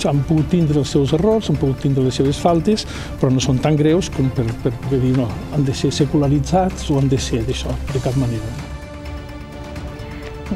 han pogut tindre els seus errors, han pogut tindre les seves faltes, però no són tan greus com per poder dir no, han de ser secularitzats o han de ser d'això, de cap manera.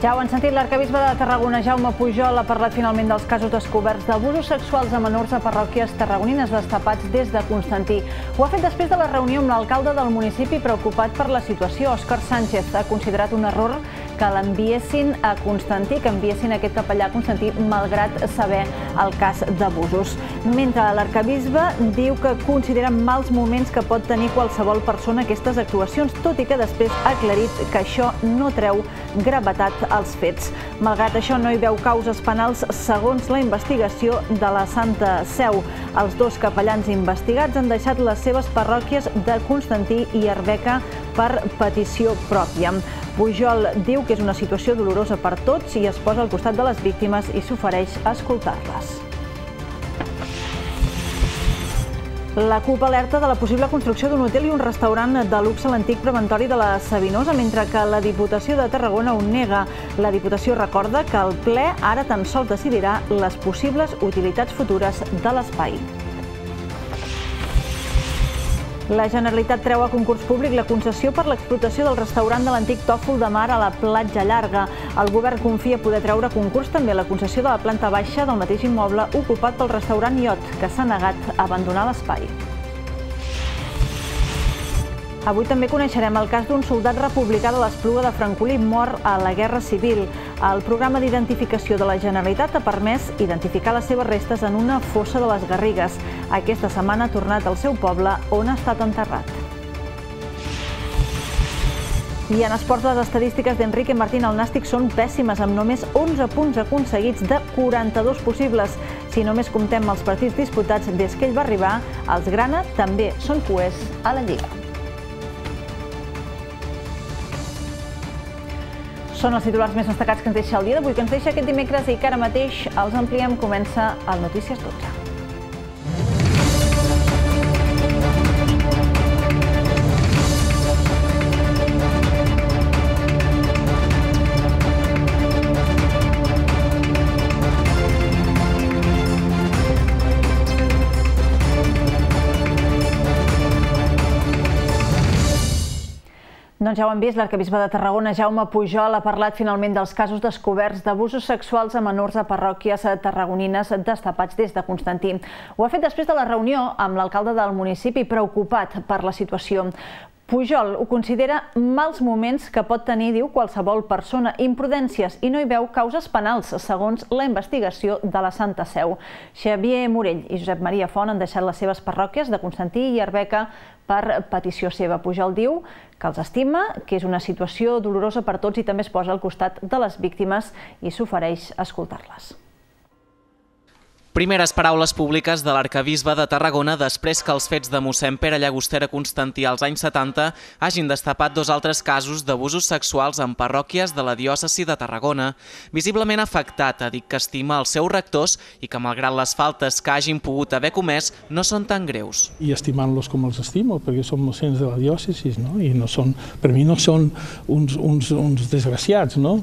Ja ho han sentit, l'arquebisbe de Tarragona, Jaume Pujol, ha parlat finalment dels casos descoberts d'abusos sexuals a menors a parròquies tarragonines destapats des de Constantí. Ho ha fet després de la reunió amb l'alcalde del municipi preocupat per la situació. Òscar Sánchez ha considerat un error que l'enviessin a Constantí, que enviessin aquest capellà a Constantí, malgrat saber el cas d'abusos. Mentre l'arquebisbe diu que considera mals moments que pot tenir qualsevol persona aquestes actuacions, tot i que després ha aclarit que això no treu gravetat als fets. Malgrat això, no hi veu causes penals segons la investigació de la Santa Seu. Els dos capellans investigats han deixat les seves parròquies de Constantí i Arbeca per petició pròpia. Pujol diu que és una situació dolorosa per tots i es posa al costat de les víctimes i s'ofereix a escoltar-les. La CUP alerta de la possible construcció d'un hotel i un restaurant de luxe a l'antic preventori de la Sabinosa, mentre que la Diputació de Tarragona ho nega. La Diputació recorda que el ple ara tan sols decidirà les possibles utilitats futures de l'espai. La Generalitat treu a concurs públic la concessió per l'explotació del restaurant de l'antic Tòfol de Mar a la Platja Llarga. El govern confia poder treure a concurs també la concessió de la planta baixa del mateix immoble ocupat pel restaurant Iot, que s'ha negat a abandonar l'espai. Avui també coneixerem el cas d'un soldat republicà de l'Espluga de Francolí mort a la Guerra Civil. El programa d'identificació de la Generalitat ha permès identificar les seves restes en una fossa de les Garrigues. Aquesta setmana ha tornat al seu poble, on ha estat enterrat. I en esports, les estadístiques d'Enrique Martín al Nàstic són pèssimes, amb només 11 punts aconseguits de 42 possibles. Si només comptem els partits disputats des que ell va arribar, els grana també són cuers a la Lliga. Són els titulars més destacats que ens deixa el dia d'avui, que ens deixa aquest dimecres i que ara mateix els ampliem. Comença el Notícies 12. Doncs ja ho hem vist, l'arquebisbe de Tarragona, Jaume Pujol, ha parlat finalment dels casos descoberts d'abusos sexuals a menors a parròquies tarragonines destapats des de Constantí. Ho ha fet després de la reunió amb l'alcalde del municipi, preocupat per la situació. Pujol ho considera mals moments que pot tenir, diu, qualsevol persona, imprudències, i no hi veu causes penals, segons la investigació de la Santa Seu. Xavier Morell i Josep Maria Font han deixat les seves parròquies de Constantí i Arbeca per petició seva. Pujol diu que els estima, que és una situació dolorosa per tots i també es posa al costat de les víctimes i s'ofereix a escoltar-les. Primeres paraules públiques de l'arquebisbe de Tarragona després que els fets de mossèn Pere Llagostera Constantí als anys 70 hagin destapat dos altres casos d'abusos sexuals en parròquies de la diòcesi de Tarragona. Visiblement afectat, ha dit que estima els seus rectors i que, malgrat les faltes que hagin pogut haver comès, no són tan greus. I estimant-los com els estimo, perquè són mossens de la diòcesi, no? I no són, per mi no són uns desgraciats, no?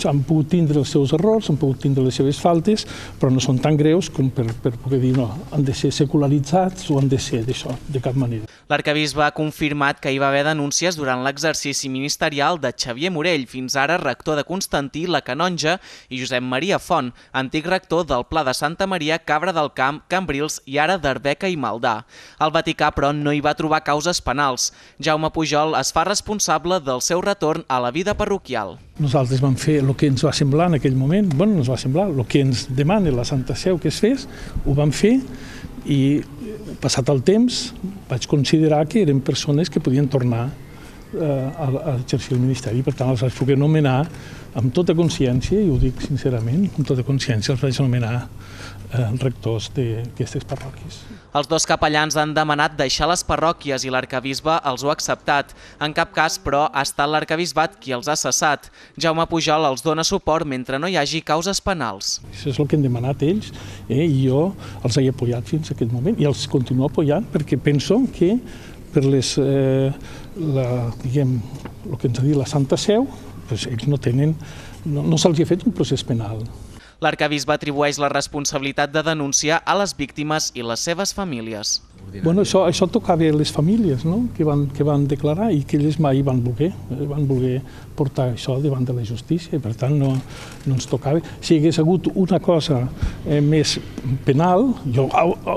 Han pogut tindre els seus errors, han pogut tindre les seves faltes, però no són tan greus com per poder dir no, han de ser secularitzats o han de ser d'això, de cap manera. L'arquebisbe ha confirmat que hi va haver denúncies durant l'exercici ministerial de Xavier Morell, fins ara rector de Constantí, la Canonja, i Josep Maria Font, antic rector del Pla de Santa Maria, Cabra del Camp, Cambrils i ara d'Arbeca i Maldà. El Vaticà, però, no hi va trobar causes penals. Jaume Pujol es fa responsable del seu retorn a la vida parroquial. Nosaltres vam fer el que ens va semblar en aquell moment, no ens va semblar, el que ens demana la Santa Seu que es fes, ho vam fer i passat el temps vaig considerar que eren persones que podien tornar a exercir el ministeri. Per tant, els vaig poder nomenar amb tota consciència, i ho dic sincerament, amb tota consciència els vaig nomenar rectors d'aquestes parròquies. Els dos capellans han demanat deixar les parròquies i l'arquebisbe els ho ha acceptat. En cap cas, però, ha estat l'arquebisbat qui els ha cessat. Jaume Pujol els dona suport mentre no hi hagi causes penals. Això és el que han demanat ells i jo els he apoyat fins a aquest moment i els continuo apoyant perquè penso que per el que ens ha dit la Santa Seu, ells no se'ls ha fet un procés penal. L'arquebisbe atribueix la responsabilitat de denúncia a les víctimes i les seves famílies. Bueno, això tocava a les famílies, no?, que van declarar i que ells mai van voler portar això davant de la justícia i per tant no ens tocava. Si hi hagués hagut una cosa més penal, jo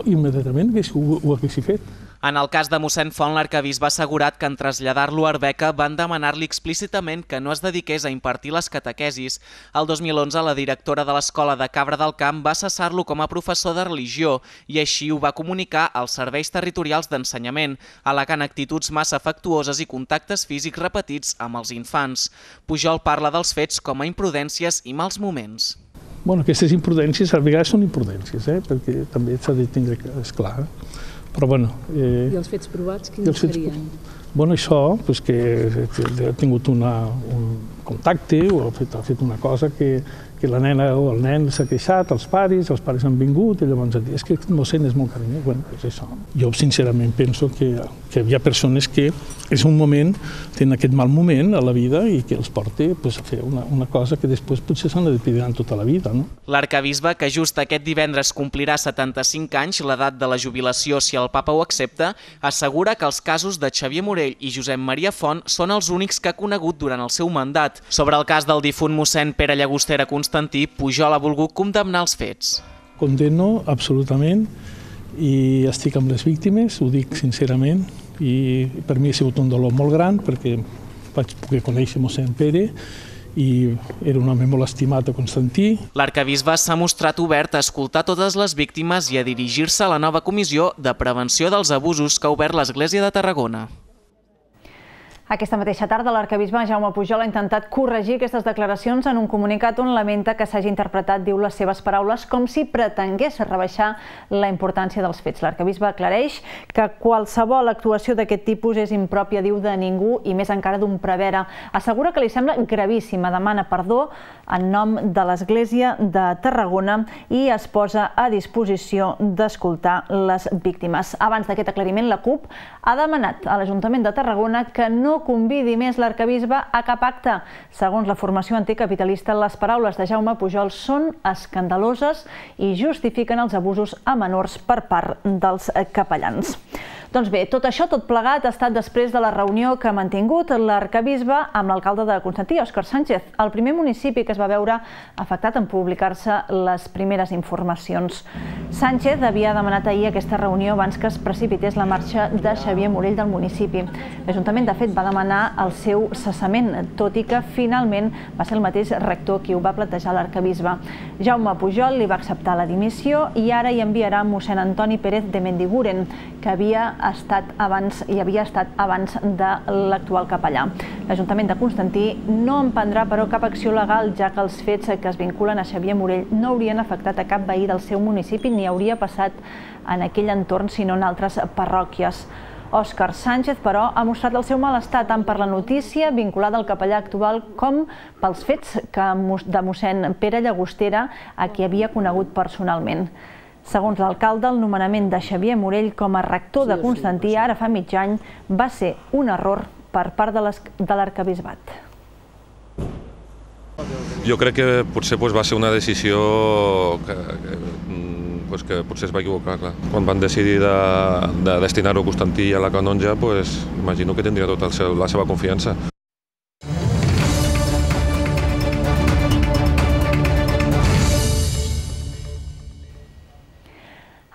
immediatament ho hagués fet. En el cas de mossèn Font, l'arquebisbe ha assegurat que en traslladar-lo a Arbeca van demanar-li explícitament que no es dediqués a impartir les catequesis. El 2011, la directora de l'escola de Cabra del Camp va cessar-lo com a professor de religió i així ho va comunicar als serveis territorials d'ensenyament, al·legant actituds massa afectuoses i contactes físics repetits amb els infants. Pujol parla dels fets com a imprudències i mals moments. Bueno, aquestes imprudències a vegades són imprudències, perquè també s'ha de tindre clar. Però bueno... I els fets provats, quins serien? Bueno, això, que ha tingut un contacte o ha fet una cosa que la nena o el nen s'ha queixat, els pares han vingut i llavors han dit és que el mossèn és molt carinyós. Bueno, és això. Jo sincerament penso que hi ha persones que és un moment, tenen aquest mal moment a la vida i que els porta a fer una cosa que després potser s'han de pedir tota la vida. L'arquebisbe, que just aquest divendres complirà 75 anys, l'edat de la jubilació si el papa ho accepta, assegura que els casos de Xavier Morell i Josep Maria Font són els únics que ha conegut durant el seu mandat. Sobre el cas del difunt mossèn Pere Llagostera Constantí, Pujol ha volgut condemnar els fets. Condemno absolutament i estic amb les víctimes, ho dic sincerament, i per mi ha sigut un dolor molt gran perquè vaig poder conèixer mossèn Pere i era un home molt estimat a Constantí. L'arquebisbe s'ha mostrat obert a escoltar totes les víctimes i a dirigir-se a la nova comissió de prevenció dels abusos que ha obert l'Església de Tarragona. Aquesta mateixa tarda, l'arquebisbe Jaume Pujol ha intentat corregir aquestes declaracions en un comunicat on lamenta que s'hagi interpretat, diu, les seves paraules com si pretengués rebaixar la importància dels fets. L'arquebisbe aclareix que qualsevol actuació d'aquest tipus és impròpia, diu, de ningú i més encara d'un prevere. Assegura que li sembla gravíssima, demana perdó en nom de l'Església de Tarragona i es posa a disposició d'escoltar les víctimes. Abans d'aquest aclariment, la CUP ha demanat a l'Ajuntament de Tarragona que no convidi més l'arquebisbe a cap acte. Segons la formació anticapitalista, les paraules de Jaume Pujol són escandaloses i justifiquen els abusos a menors per part dels capellans. Doncs bé, tot això, tot plegat, ha estat després de la reunió que ha mantingut l'arquebisbe amb l'alcalde de Constantí, Òscar Sánchez, el primer municipi que es va veure afectat en publicar-se les primeres informacions. Sánchez havia demanat ahir aquesta reunió abans que es precipités la marxa de Xavier Morell del municipi. L'Ajuntament, de fet, va demanar el seu cessament, tot i que finalment va ser el mateix rector qui ho va plantejar a l'arquebisbe. Jaume Pujol li va acceptar la dimissió i ara hi enviarà mossèn Antoni Pérez de Mendiguren, que havia estat abans de l'actual capellà. L'Ajuntament de Constantí no emprendrà, però, cap acció legal, ja que els fets que es vinculen a Xavier Morell no haurien afectat a cap veí del seu municipi ni hauria passat en aquell entorn, sinó en altres parròquies. Òscar Sánchez, però, ha mostrat el seu malestar tant per la notícia vinculada al capellà actual com pels fets de mossèn Pere Llagostera, a qui havia conegut personalment. Segons l'alcalde, el nomenament de Xavier Morell com a rector de Constantí ara fa mig any va ser un error per part de l'arquebisbat. Jo crec que potser va ser una decisió que potser es va equivocar. Quan van decidir de destinar-ho a Constantí i a la canonja, imagino que tindria tota la seva confiança.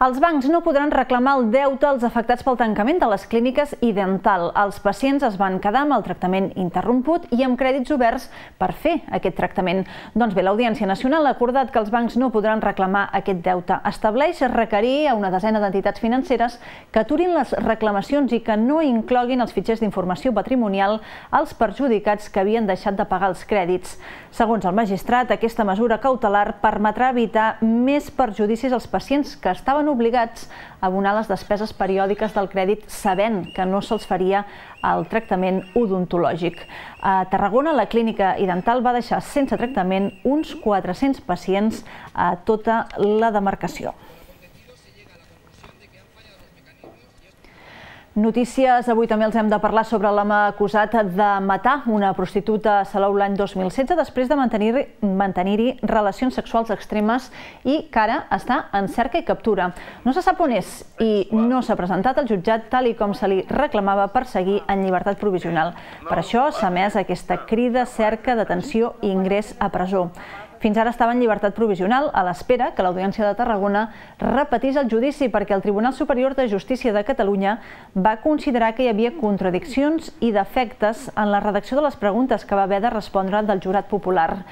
Els bancs no podran reclamar el deute als afectats pel tancament de les clíniques i dental. Els pacients es van quedar amb el tractament interromput i amb crèdits oberts per fer aquest tractament. Doncs bé, l'Audiència Nacional ha acordat que els bancs no podran reclamar aquest deute. Estableix requerir a una desena d'entitats financeres que aturin les reclamacions i que no incloguin els fitxers d'informació patrimonial als perjudicats que havien deixat de pagar els crèdits. Segons el magistrat, aquesta mesura cautelar permetrà evitar més perjudicis als pacients que estaven obligats a abonar les despeses periòdiques del crèdit sabent que no se'ls faria el tractament odontològic. A Tarragona, la clínica i dental va deixar sense tractament uns 400 pacients a tota la demarcació. Notícies, avui també els hem de parlar sobre l'home acusat de matar una prostituta a Salou l'any 2016 després de mantenir-hi relacions sexuals extremes i que ara està en cerca i captura. No se sap on és i no s'ha presentat al jutjat tal i com se li reclamava per seguir en llibertat provisional. Per això s'ha emès aquesta crida, cerca, detenció i ingrés a presó. Fins ara estava en llibertat provisional a l'espera que l'Audiència de Tarragona repetís el judici perquè el Tribunal Superior de Justícia de Catalunya va considerar que hi havia contradiccions i defectes en la redacció de les preguntes que va haver de respondre del jurat popular.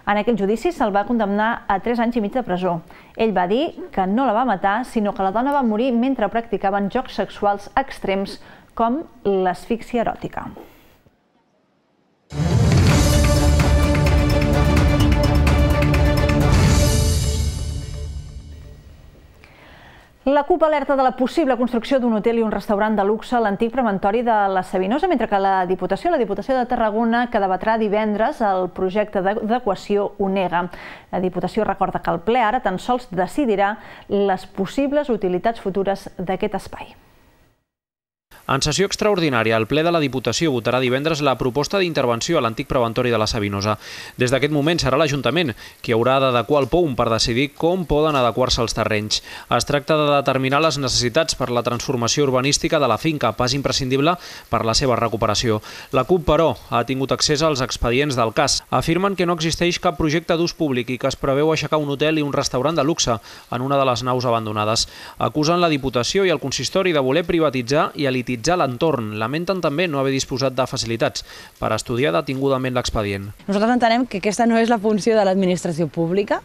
En aquell judici se'l va condemnar a 3 anys i mig de presó. Ell va dir que no la va matar, sinó que la dona va morir mentre practicaven jocs sexuals extrems com l'asfíxia eròtica. La CUP alerta de la possible construcció d'un hotel i un restaurant de luxe a l'antic preventori de la Sabinosa, mentre que la Diputació de Tarragona, que debatrà divendres el projecte d'adequació, ho nega. La Diputació recorda que el ple ara tan sols decidirà les possibles utilitats futures d'aquest espai. En sessió extraordinària, el ple de la Diputació votarà divendres la proposta d'intervenció a l'antic preventori de la Sabinosa. Des d'aquest moment serà l'Ajuntament qui haurà d'adequar el POUM per decidir com poden adequar-se els terrenys. Es tracta de determinar les necessitats per la transformació urbanística de la finca, pas imprescindible per la seva recuperació. La CUP, però, ha tingut accés als expedients del cas. Afirmen que no existeix cap projecte d'ús públic i que es preveu aixecar un hotel i un restaurant de luxe en una de les naus abandonades. Acusen la Diputació i el consistori de voler privatitzar i elititzar l'entorn. Lamenten també no haver disposat de facilitats per estudiar detingudament l'expedient. Nosaltres entenem que aquesta no és la funció de l'administració pública,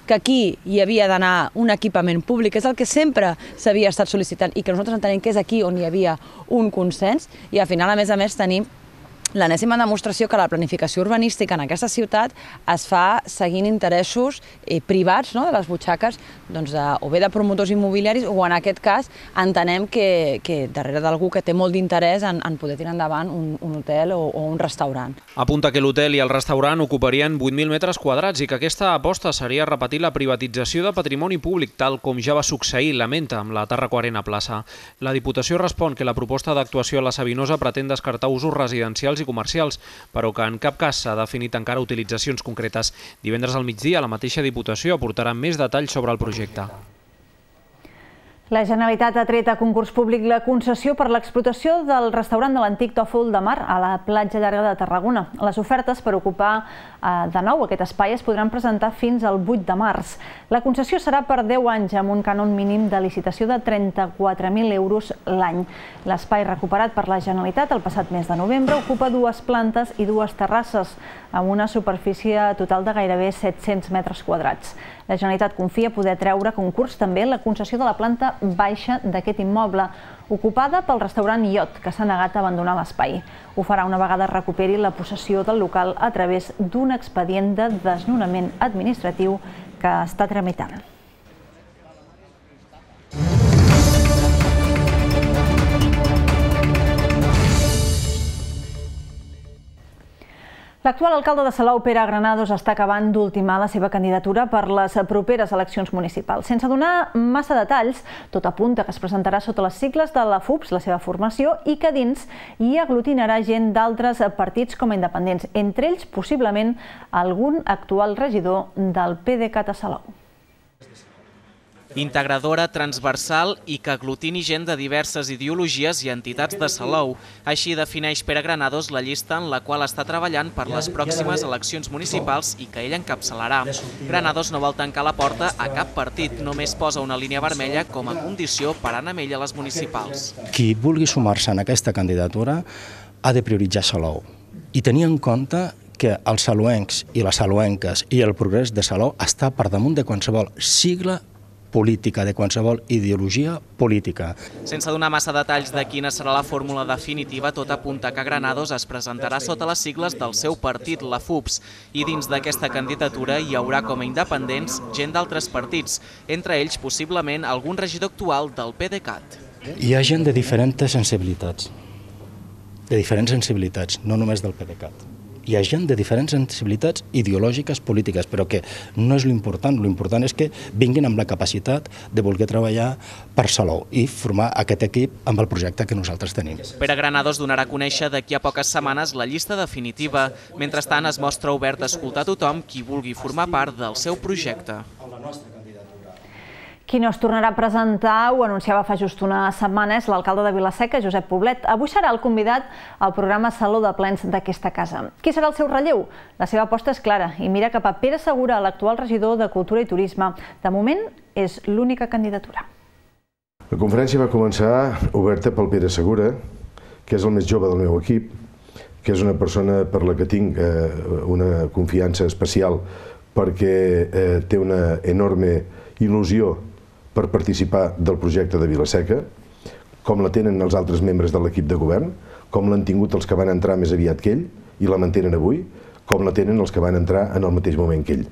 que aquí hi havia d'anar un equipament públic, és el que sempre s'havia estat sol·licitant i que nosaltres entenem que és aquí on hi havia un consens i al final, a més, tenim l'enèsima demostració que la planificació urbanística en aquesta ciutat es fa seguint interessos privats de les butxaques o bé de promotors immobiliaris o en aquest cas entenem que darrere d'algú que té molt d'interès en poder tirar endavant un hotel o un restaurant. Apunta que l'hotel i el restaurant ocuparien 8.000 metres quadrats i que aquesta aposta seria repetir la privatització de patrimoni públic tal com ja va succeir, lamenta, amb la Tàrraco Arena Plaça. La Diputació respon que la proposta d'actuació a la Sabinosa pretén descartar usos residencials i comercials, però que en cap cas s'ha definit encara utilitzacions concretes. Divendres al migdia, la mateixa Diputació aportarà més detalls sobre el projecte. La Generalitat ha tret a concurs públic la concessió per l'explotació del restaurant de l'antic Tòfol de Mar a la platja llarga de Tarragona. Les ofertes per ocupar de nou aquest espai es podran presentar fins al 8 de març. La concessió serà per 10 anys amb un cànon mínim de licitació de 34.000 euros l'any. L'espai recuperat per la Generalitat el passat mes de novembre ocupa 2 plantes i 2 terrasses amb una superfície total de gairebé 700 metres quadrats. La Generalitat confia poder treure a concurs també la concessió de la planta baixa d'aquest immoble, ocupada pel restaurant Iot, que s'ha negat a abandonar l'espai. Ho farà una vegada recuperi la possessió del local a través d'un expedient de desnonament administratiu que està tramitant. L'actual alcalde de Salou, Pere Granados, està acabant d'ultimar la seva candidatura per les properes eleccions municipals. Sense donar massa detalls, tot apunta que es presentarà sota les sigles de la FUPS, la seva formació, i que dins hi aglutinarà gent d'altres partits com a independents, entre ells possiblement algun actual regidor del PDeCAT a Salou. Integradora, transversal i que aglutini gent de diverses ideologies i entitats de Salou. Així defineix Pere Granados la llista en la qual està treballant per les pròximes eleccions municipals i que ell encapçalarà. Granados no vol tancar la porta a cap partit, només posa una línia vermella com a condició per anar amb ell a les municipals. Qui vulgui sumar-se en aquesta candidatura ha de prioritzar Salou i tenir en compte que els salouencs i les salouenques i el progrés de Salou està per damunt de qualsevol sigla política, de qualsevol ideologia política. Sense donar massa detalls de quina serà la fórmula definitiva, tot apunta que Granados es presentarà sota les sigles del seu partit, la FUPS, i dins d'aquesta candidatura hi haurà com a independents gent d'altres partits, entre ells possiblement algun regidor actual del PDeCAT. Hi ha gent de diferents sensibilitats, no només del PDeCAT. hi ha gent de diferents sensibilitats ideològiques, polítiques, però que no és l'important és que vinguin amb la capacitat de voler treballar per Salou i formar aquest equip amb el projecte que nosaltres tenim. Pere Granados donarà a conèixer d'aquí a poques setmanes la llista definitiva. Mentrestant, es mostra obert a escoltar tothom qui vulgui formar part del seu projecte. Qui no es tornarà a presentar, ho anunciava fa just una setmana, és l'alcalde de Vila-seca, Josep Poblet. Avui serà el convidat al programa Saló de Plens d'aquesta casa. Qui serà el seu relleu? La seva aposta és clara i mira cap a Pere Segura, l'actual regidor de Cultura i Turisme. De moment, és l'única candidatura. La conferència va començar oberta pel Pere Segura, que és el més jove del meu equip, que és una persona per la que tinc una confiança especial perquè té una enorme il·lusió per participar del projecte de Vila-seca, com la tenen els altres membres de l'equip de govern, com l'han tingut els que van entrar més aviat que ell i la mantenen avui, com la tenen els que van entrar en el mateix moment que ell.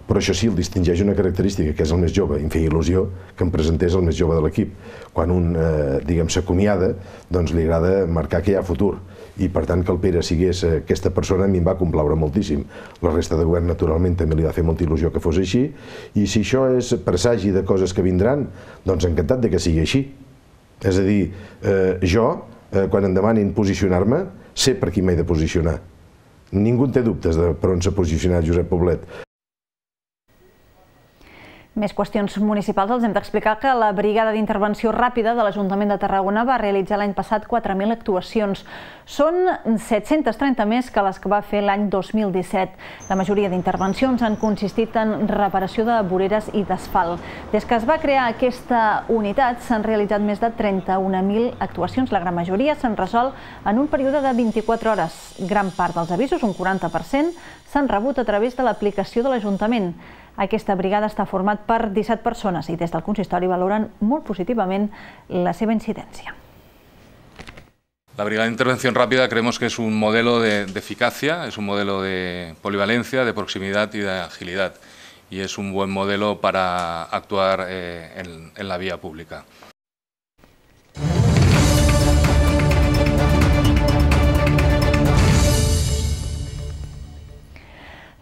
Però això sí, el distingeix una característica, que és el més jove. Em feia il·lusió que em presentés el més jove de l'equip. Quan un, diguem, s'acomiada, doncs li agrada marcar que hi ha futur. I per tant que el Pere sigués aquesta persona a mi em va complaure moltíssim. La resta de govern naturalment també li va fer molta il·lusió que fos així, i si això és presagi de coses que vindran, doncs encantat de que sigui així. És a dir, jo, quan em demanin posicionar-me, sé per qui m'he de posicionar. Ningú té dubtes de per on s'ha posicionat Josep Poblet. Més qüestions municipals. Els hem d'explicar que la Brigada d'Intervenció Ràpida de l'Ajuntament de Tarragona va realitzar l'any passat 4.000 actuacions. Són 730 més que les que va fer l'any 2017. La majoria d'intervencions han consistit en reparació de voreres i d'asfalt. Des que es va crear aquesta unitat s'han realitzat més de 31.000 actuacions. La gran majoria s'han resolt en un període de 24 hores. Gran part dels avisos, un 40%, s'han rebut a través de l'aplicació de l'Ajuntament. Aquesta brigada està format per 17 persones i des del consistori valoren molt positivament la seva incidència. La Brigada de Intervención Rápida creemos que es un modelo de eficacia, es un modelo de polivalencia, de proximidad y de agilidad. Y es un buen modelo para actuar en la vía pública.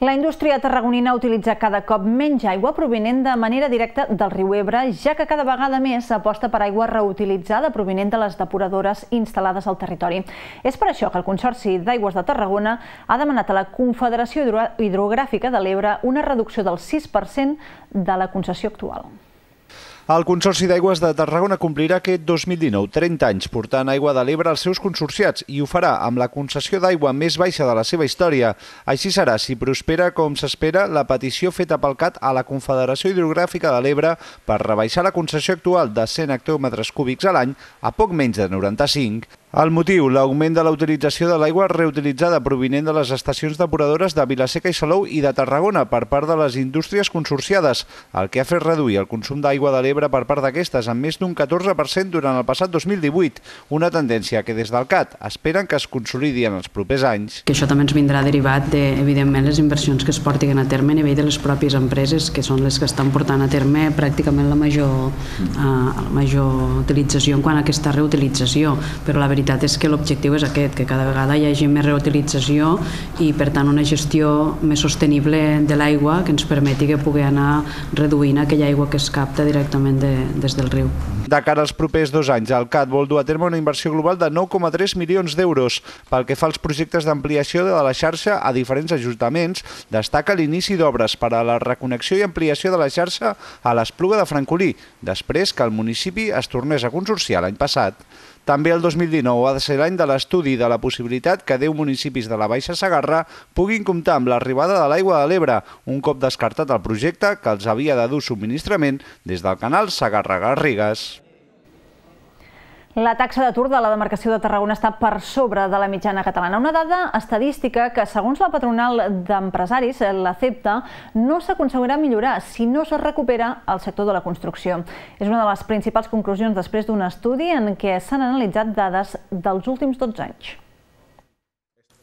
La indústria tarragonina utilitza cada cop menys aigua provinent de manera directa del riu Ebre, ja que cada vegada més s'aposta per aigua reutilitzada provinent de les depuradores instal·lades al territori. És per això que el Consorci d'Aigües de Tarragona ha demanat a la Confederació Hidrogràfica de l'Ebre una reducció del 6% de la concessió actual. El Consorci d'Aigües de Tarragona complirà aquest 2019 30 anys portant aigua de l'Ebre als seus consorciats i ho farà amb la concessió d'aigua més baixa de la seva història. Així serà si prospera com s'espera la petició feta pel CAT a la Confederació Hidrogràfica de l'Ebre per rebaixar la concessió actual de 100 hectòmetres cúbics a l'any a poc menys de 95. El motiu, l'augment de la utilització de l'aigua reutilitzada provinent de les estacions depuradores de Vila-seca i Salou i de Tarragona per part de les indústries consorciades, el que ha fet reduir el consum d'aigua de l'Ebre per part d'aquestes en més d'un 14% durant el passat 2018, una tendència que des del CAT esperen que es consolidi en els propers anys. Que això també ens vindrà derivat de, evidentment, les inversions que es portin a terme a nivell de les pròpies empreses, que són les que estan portant a terme pràcticament la major utilització en quant a aquesta reutilització, però la veritat és que l'objectiu és aquest, que cada vegada hi hagi més reutilització i per tant una gestió més sostenible de l'aigua que ens permeti que pugui anar reduint aquella aigua que es capta directament des del riu. De cara als propers 2 anys, el CAT vol dur a terme una inversió global de 9,3 milions d'euros. Pel que fa als projectes d'ampliació de la xarxa a diferents ajuntaments, destaca l'inici d'obres per a la reconnexió i ampliació de la xarxa a l'Espluga de Francolí, després que el municipi es tornés a consorciar l'any passat. També el 2019 ha de ser l'any de l'estudi de la possibilitat que 10 municipis de la Baixa Segarra puguin comptar amb l'arribada de l'aigua de l'Ebre, un cop descartat el projecte que els havia de dur subministrament des del canal Segarra-Garrigues. La taxa d'atur de la demarcació de Tarragona està per sobre de la mitjana catalana. Una dada estadística que, segons la patronal d'empresaris, la CEPTA, no s'aconseguirà millorar si no es recupera el sector de la construcció. És una de les principals conclusions després d'un estudi en què s'han analitzat dades dels últims 12 anys.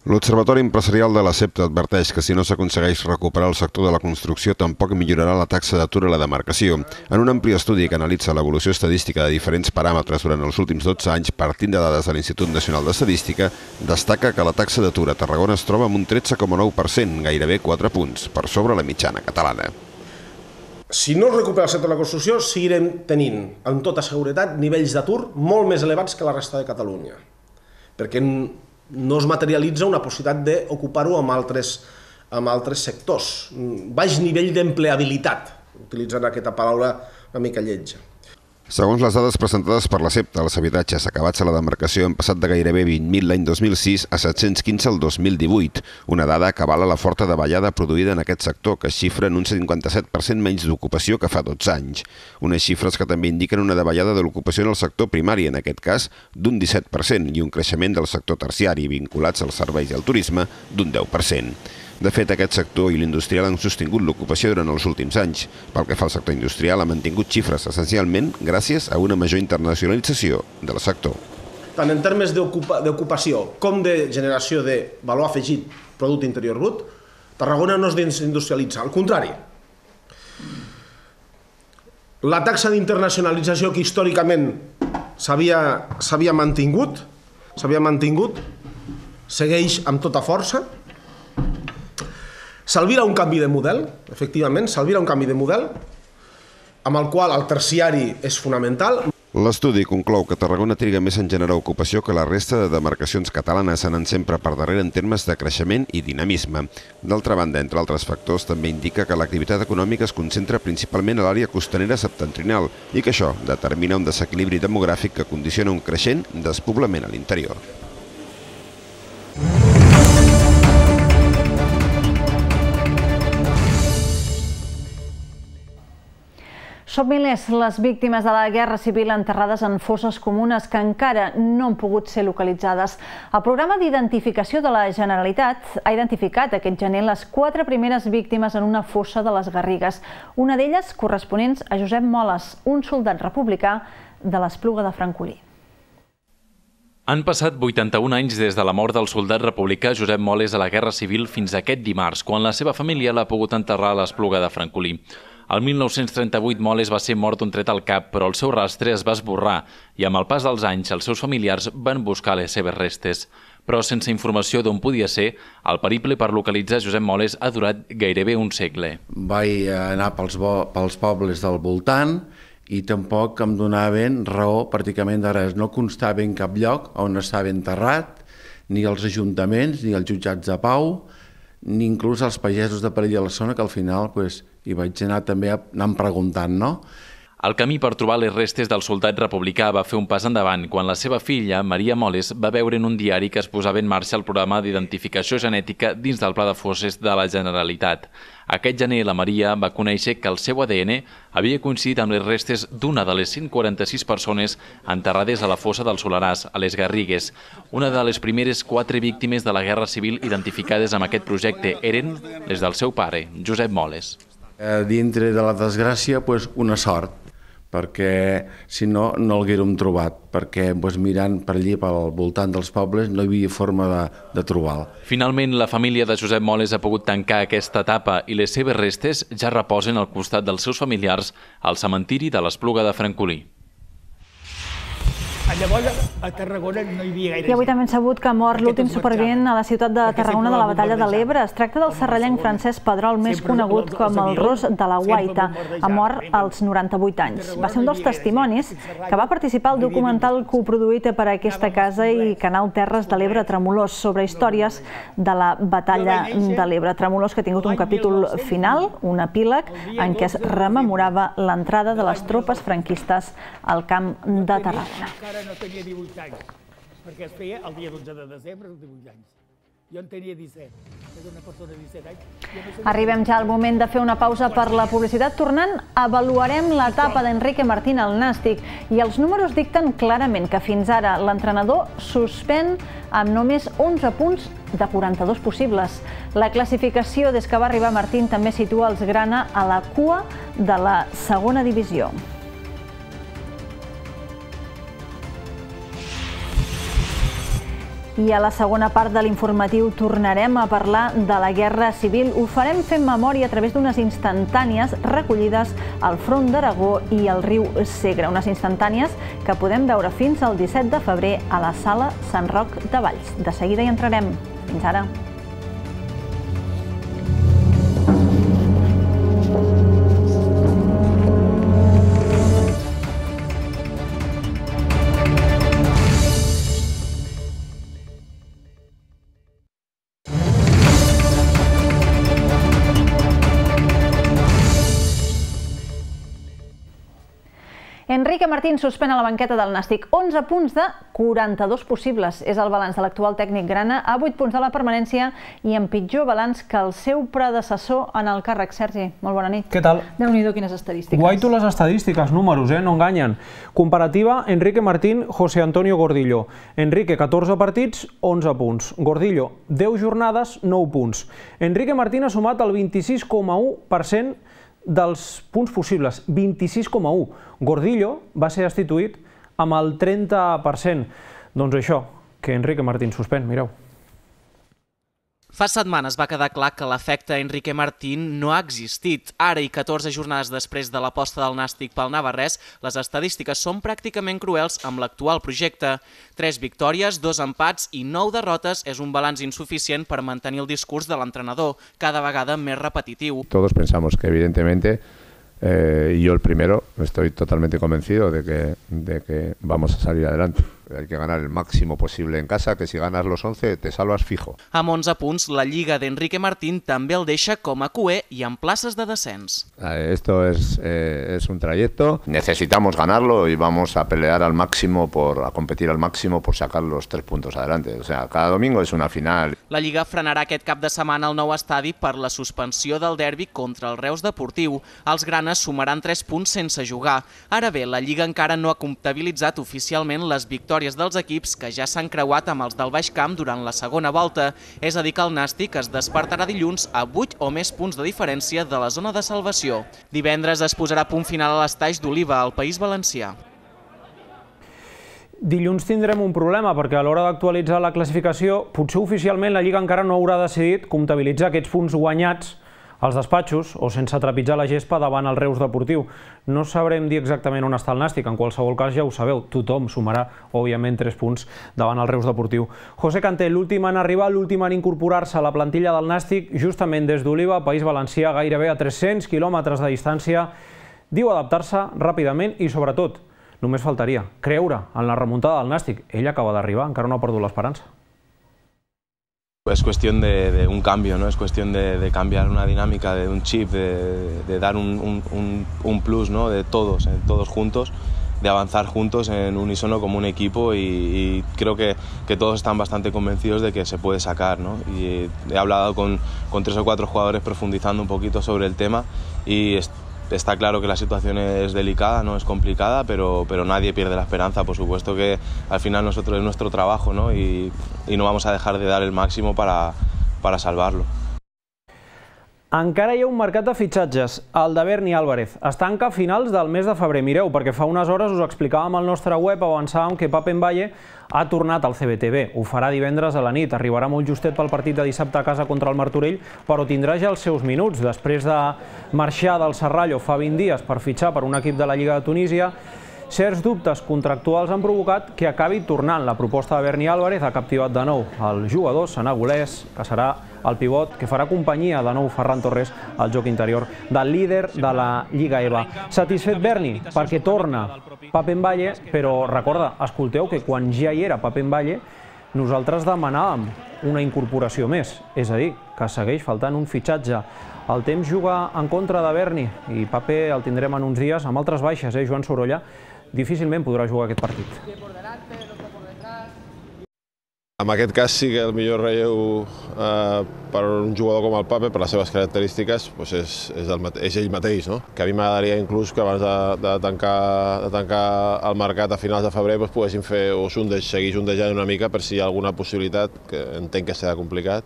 L'Observatori Empresarial de la CEPTA adverteix que si no s'aconsegueix recuperar el sector de la construcció tampoc millorarà la taxa d'atur a la demarcació. En un ampli estudi que analitza l'evolució estadística de diferents paràmetres durant els últims 12 anys partint de dades de l'Institut Nacional d'Estadística, destaca que la taxa d'atur a Tarragona es troba amb un 13,9%, gairebé 4 punts, per sobre la mitjana catalana. Si no es recupera el sector de la construcció, seguirem tenint, amb tota seguretat, nivells d'atur molt més elevats que la resta de Catalunya. Perquè no es materialitza una possibilitat d'ocupar-ho amb altres sectors. Baix nivell d'empleabilitat, utilitzant aquesta paraula una mica lletja. Segons les dades presentades per la CEPTA, els habitatges acabats a la demarcació han passat de gairebé 20.000 l'any 2006 a 715 el 2018, una dada que avala la forta davallada produïda en aquest sector, que es xifra en un 57% menys d'ocupació que fa 12 anys. Unes xifres que també indiquen una davallada de l'ocupació en el sector primari, en aquest cas d'un 17%, i un creixement del sector terciari, vinculats als serveis i al turisme, d'un 10%. De fet, aquest sector i l'industrial han sostingut l'ocupació durant els últims anys. Pel que fa al sector industrial, ha mantingut xifres essencialment gràcies a una major internacionalització del sector. Tant en termes d'ocupació com de generació de valor afegit producte interior brut, Tarragona no es desindustrialitza, al contrari. La taxa d'internacionalització que històricament s'havia mantingut, segueix amb tota força. S'albira un canvi de model, efectivament, s'albira un canvi de model, amb el qual el terciari és fonamental. L'estudi conclou que Tarragona triga més en generar ocupació que la resta de demarcacions catalanes, anant sempre per darrere en termes de creixement i dinamisme. D'altra banda, entre altres factors, també indica que l'activitat econòmica es concentra principalment a l'àrea costanera septentrional i que això determina un desequilibri demogràfic que condiciona un creixent despoblament a l'interior. Són milers les víctimes de la Guerra Civil enterrades en fosses comunes que encara no han pogut ser localitzades. El programa d'identificació de la Generalitat ha identificat aquest gener les 4 primeres víctimes en una fossa de les Garrigues, una d'elles corresponents a Josep Moles, un soldat republicà de l'Espluga de Francolí. Han passat 81 anys des de la mort del soldat republicà Josep Moles a la Guerra Civil fins aquest dimarts, quan la seva família l'ha pogut enterrar a l'Espluga de Francolí. El 1938 Moles va ser mort d'un tret al cap, però el seu rastre es va esborrar i amb el pas dels anys els seus familiars van buscar les seves restes. Però sense informació d'on podia ser, el periple per localitzar Josep Moles ha durat gairebé un segle. Vaig anar pels pobles del voltant i tampoc em donaven raó pràcticament de res. No constava en cap lloc on estava enterrat, ni els ajuntaments, ni els jutjats de pau, ni inclús els pagesos de per allà a la zona, que al final hi vaig anar també anant preguntant, no? El camí per trobar les restes del soldat republicà va fer un pas endavant quan la seva filla, Maria Moles, va veure en un diari que es posava en marxa el programa d'identificació genètica dins del Pla de Fosses de la Generalitat. Aquest gener la Maria va conèixer que el seu ADN havia coincidit amb les restes d'una de les 146 persones enterrades a la fossa del Soleràs, a les Garrigues. Una de les primeres 4 víctimes de la Guerra Civil identificades amb aquest projecte eren les del seu pare, Josep Moles. Dintre de la desgràcia, una sort, perquè si no, no l'haguérem trobat, perquè mirant per allí, pel voltant dels pobles, no hi havia forma de trobar-lo. Finalment, la família de Josep Moles ha pogut tancar aquesta etapa i les seves restes ja reposen al costat dels seus familiars al cementiri de l'Espluga de Francolí. Llavors, a Tarragona no hi havia gaire gent. I avui també hem sabut que ha mort l'últim supervivent a la ciutat de Tarragona de la batalla de l'Ebre. Es tracta del serrallenc Francesc Pedrol, més conegut com el Ros de la Guaita. Ha mort als 98 anys. Va ser un dels testimonis que va participar al documental coproduït per aquesta casa i Canal Terres de l'Ebre Tremolors sobre històries de la batalla de l'Ebre. Tremolors que ha tingut un capítol final, un epíleg, en què es rememorava l'entrada de les tropes franquistes al camp de Tarragona. No tenia 18 anys, perquè es feia el dia 12 de desembre, els 18 anys. Jo en tenia 17, és una persona de 17 anys. Arribem ja al moment de fer una pausa per la publicitat. Tornant, avaluarem l'etapa d'Enrique Martín al Nàstic i els números dicten clarament que fins ara l'entrenador suspèn amb només 11 punts de 42 possibles. La classificació des que va arribar Martín també situa els grana a la cua de la segona divisió. I a la segona part de l'informatiu tornarem a parlar de la Guerra Civil. Ho farem fent memòria a través d'unes instantànies recollides al Front d'Aragó i al riu Segre. Unes instantànies que podem veure fins al 17 de febrer a la Sala Sant Roc de Valls. De seguida hi entrarem. Fins ara. Enrique Martín suspèn a la banqueta del Nàstic. 11 punts de 42 possibles. És el balanç de l'actual tècnic grana, a 8 punts de la permanència i en pitjor balanç que el seu predecessor en el càrrec. Sergi, molt bona nit. Què tal? Déu-n'hi-do, quines estadístiques. Guaito les estadístiques, números, no enganyen. Comparativa, Enrique Martín, José Antonio Gordillo. Enrique, 14 partits, 11 punts. Gordillo, 10 jornades, 9 punts. Enrique Martín ha sumat el 26,1% dels punts possibles, 26,1. Gordillo va ser destituït amb el 30%. Doncs això, que Enrique Martín suspèn, mireu. Fa setmanes va quedar clar que l'efecte Enrique Martín no ha existit. Ara, i 14 jornades després de l'aposta del Nàstic pel navarrès, les estadístiques són pràcticament cruels amb l'actual projecte. 3 victòries, 2 empats i 9 derrotes és un balanç insuficient per mantenir el discurs de l'entrenador, cada vegada més repetitiu. Todos pensamos que evidentemente, yo el primero, estoy totalmente convencido de que vamos a salir adelante. Hay que ganar el máximo posible en casa, que si ganas los 11 te salvas fijo. Amb 11 punts, la Lliga d'Enrique Martín també el deixa com a cuer i en places de descens. Esto es un trayecto. Necesitamos ganarlo y vamos a pelear al máximo, a competir al máximo por sacar los 3 puntos adelante. O sea, cada domingo es una final. La Lliga frenarà aquest cap de setmana al nou estadi per la suspensió del derbi contra el Reus Deportiu. Els granes sumaran 3 punts sense jugar. Ara bé, la Lliga encara no ha comptabilitzat oficialment les victòries dels equips que ja s'han creuat amb els del Baix Camp durant la segona volta. És a dir que el Nàstic es despertarà dilluns a 8 o més punts de diferència de la zona de salvació. Divendres es posarà punt final a l'Estaix d'Oliva, al País Valencià. Dilluns tindrem un problema, perquè a l'hora d'actualitzar la classificació, potser oficialment la Lliga encara no haurà decidit comptabilitzar aquests punts guanyats als despatxos o sense trepitjar la gespa davant el Reus Deportiu. No sabrem dir exactament on està el Nàstic, en qualsevol cas ja ho sabeu, tothom sumarà, òbviament, 3 punts davant el Reus Deportiu. José Canté, l'últim en arribar, l'últim en incorporar-se a la plantilla del Nàstic, justament des d'Oliva, País Valencià, gairebé a 300 quilòmetres de distància, diu adaptar-se ràpidament i, sobretot, només faltaria creure en la remuntada del Nàstic. Ell acaba d'arribar, encara no ha perdut l'esperança. Es cuestión de un cambio, ¿no? Es cuestión de cambiar una dinámica, de un chip, de dar un plus, ¿no? De todos juntos, de avanzar juntos en unísono como un equipo y creo que todos están bastante convencidos de que se puede sacar, ¿no? Y he hablado con 3 o 4 jugadores profundizando un poquito sobre el tema y está claro que la situación es delicada, no es complicada, pero nadie pierde la esperanza. Por supuesto que al final nosotros es nuestro trabajo, ¿no? Y no vamos a dejar de dar el máximo para salvarlo. Encara hi ha un mercat de fitxatges, el de Berni Álvarez. Es tanca a finals del mes de febrer. Mireu, perquè fa unes hores us explicàvem al nostre web, avançàvem que Pape Mbaye ha tornat al CBTB. Ho farà divendres a la nit. Arribarà molt justet pel partit de dissabte a casa contra el Martorell, però tindrà ja els seus minuts. Després de marxar del Serrallo fa 20 dies per fitxar per un equip de la Lliga de Tunísia, certs dubtes contractuals han provocat que acabi tornant. La proposta de Berni Álvarez ha captivat de nou el jugador senegolès, que serà el pivot que farà companyia de nou Ferran Torres al joc interior del líder de la Lliga EVA. Satisfet Berni perquè torna Pape Mbaye, però recorda, escolteu que quan ja hi era Pape Mbaye nosaltres demanàvem una incorporació més, és a dir, que segueix faltant un fitxatge. El temps juga en contra de Berni i Pape el tindrem en uns dies amb altres baixes, Joan Sorolla difícilment podrà jugar aquest partit. En aquest cas sí que el millor relleu per un jugador com el Pape, per les seves característiques, és ell mateix. Que a mi m'agradaria inclús que abans de tancar el mercat a finals de febrer poguessin fer o seguir sondejant una mica per si hi ha alguna possibilitat, que entenc que serà complicat,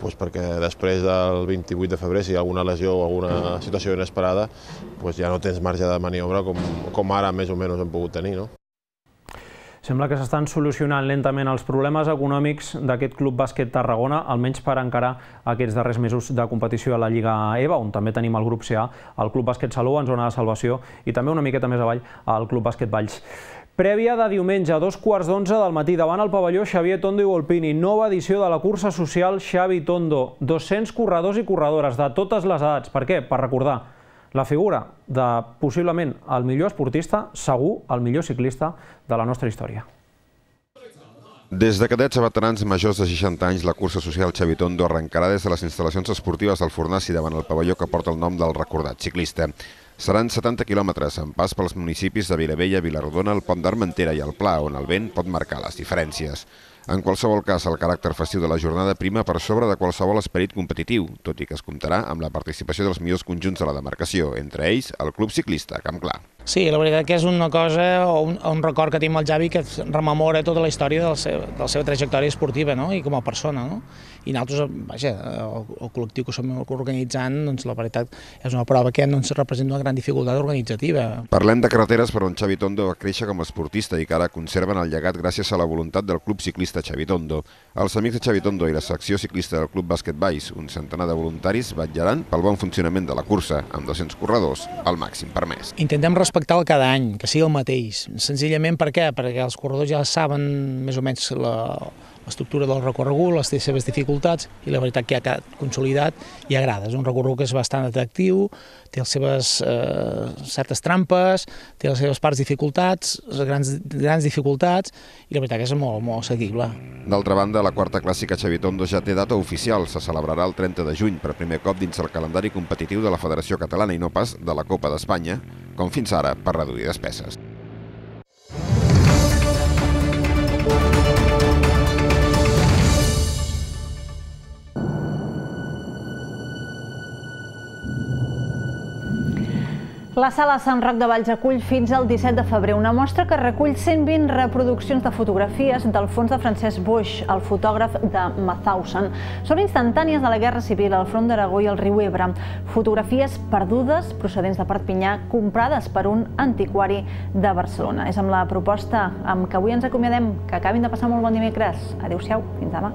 perquè després del 28 de febrer, si hi ha alguna lesió o alguna situació inesperada, ja no tens marge de maniobra com ara més o menys hem pogut tenir. Sembla que s'estan solucionant lentament els problemes econòmics d'aquest Club Bàsquet Tarragona, almenys per encarar aquests darrers mesos de competició a la Lliga EVA, on també tenim el grup CA, el Club Bàsquet Salou en zona de salvació i també una miqueta més avall el Club Bàsquet Valls. Prèvia de diumenge, a 2:15 del matí, davant el pavelló Xavier Tondo i Volpini, nova edició de la cursa social Xavi Tondo. 200 corredors i corredores de totes les edats. Per què? Per recordar la figura de, possiblement, el millor esportista, segur, el millor ciclista de la nostra història. Des de cadets a veterans majors de 60 anys, la cursa social Xavi Tondo arrencarà des de les instal·lacions esportives del Fornaci davant el pavelló que porta el nom del recordat ciclista. Seran 70 quilòmetres, amb pas pels municipis de Vilabella, Vilarrodona, el Pont d'Armentera i el Pla, on el vent pot marcar les diferències. En qualsevol cas, el caràcter festiu de la jornada prima per sobre de qualsevol esperit competitiu, tot i que es comptarà amb la participació dels millors conjunts de la demarcació, entre ells el Club Ciclista Campclar. Sí, la veritat que és una cosa, un record que tinc amb el Xavi que rememora tota la història de la seva trajectòria esportiva i com a persona. I nosaltres, vaja, el col·lectiu que som organitzant, la veritat és una prova que representa una gran dificultat organitzativa. Parlem de carreteres per on Xavi Tondo va créixer com a esportista i que ara conserven el llegat gràcies a la voluntat del Club Ciclista Xavi Tondo. Els amics de Xavi Tondo i la secció ciclista del Club Bàsquet Valls, un centenar de voluntaris, vetllaran pel bon funcionament de la cursa, amb 200 corredors, al màxim permès. Intentem respectar-lo cada any, que sigui el mateix. Senzillament per què? Perquè els corredors ja saben més o menys l'estructura del recorregut, les seves dificultats, i la veritat que ha quedat consolidat i agrada. És un recorregut que és bastant atractiu, té les seves certes trampes, té les seves parts dificultats, grans dificultats, i la veritat que és molt seguible. D'altra banda, la quarta clàssica Xavi Tondo ja té data oficial. Se celebrarà el 30 de juny, per primer cop dins el calendari competitiu de la Federació Catalana i no pas de la Copa d'Espanya, com fins ara, per reduir despeses. La Sala Sant Roc de Valls acull fins al 17 de febrer una mostra que recull 120 reproduccions de fotografies del fons de Francesc Boix, el fotògraf de Mauthausen. Són instantànies de la Guerra Civil al front d'Aragó i al riu Ebre. Fotografies perdudes, procedents de Perpinyà, comprades per un antiquari de Barcelona. És amb la proposta amb què avui ens acomiadem. Que acabin de passar molt bon dimecres. Adéu-siau, fins demà.